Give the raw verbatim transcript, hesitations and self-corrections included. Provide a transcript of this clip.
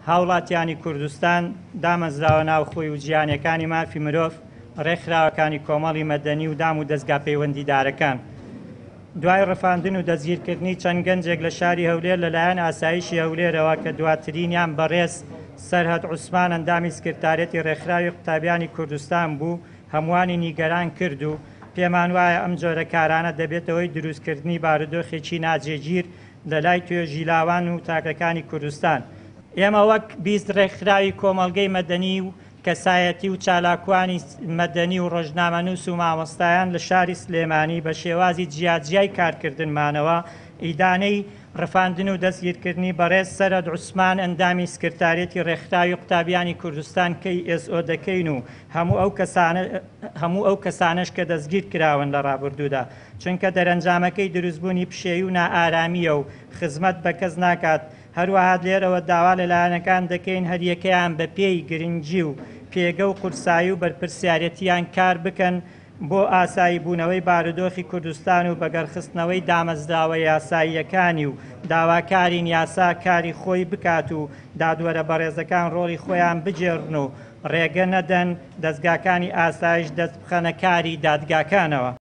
هاوڵاتیانی کوردستان، دامەزراوە ناوخۆی و جیهانیەکانی مافی مرۆڤ، ڕێکخراوەکانی کۆمەڵی مەدەنی و دام و دەزگا پەیوەندیدارەکان. دوای ڕفاندن و دەستگیرکردنی چەند گەنجێک لە شاری هەولێر لەلایەن ئاسایشی هەولێرەوە کە دواترینیان بەڕێز سەرهەد عوسمان ئەندامی سکرتاریەتی ڕێکخراوی قوتابیانی کوردستان بوو، هەمووانی نیگەران کرد و پێمان وایە ئەم جۆرە کارانە دەبێتە هۆی دروستکردنی بارودۆخێکی ناجێگیر لەلای توێژی لاوان و تاکەکانی کوردستان. ئێمە وەک بیست ڕێکخراوی کۆمەڵگەی مەدەنی و کەسایەتی و چالاکوانی مەدەنی و ڕۆژنامەنووس و مامۆستایان لە شاری سلێمانی بە شێوازی جیاجیای کارکردنمانەوە ئیدانەی ڕفاندن و دەستگیرکردنی بەڕێز سەرهەد عوسمان ئەندامی سکرتاریەتی ڕێکخراوی قوتابیانی کوردستان K S O دەکەین و هەموو ئەو کەسانە هەموو ئەو کەسانەش کە دەستگیر کراون لە ڕابردوودا، چونکە دەرەنجامەکەی دروستبوونی پشێوی و نائارامییە و خزمەت بە کەس ناکات. هەروەها لێرەوە داوا لە لایەنەکان دەکەین هەریەکەیان بەپێی گرنگی و پێگە و قورسایی و بەرپرسیارەتیان کار بکەن بۆ ئاسایی بوونەوەی بارودۆخی کوردستان و بەگەڕخستنەوەی دامەزراوە یاساییەکانی و داواکارین یاسا کاری خۆی بکات و دادوەرە بەڕێزەکان ڕۆڵی خۆیان بگێڕن و ڕێگە نەدەن دەزگاکانی ئاسایش دەست بخەنە کاری دادگاکانەوە.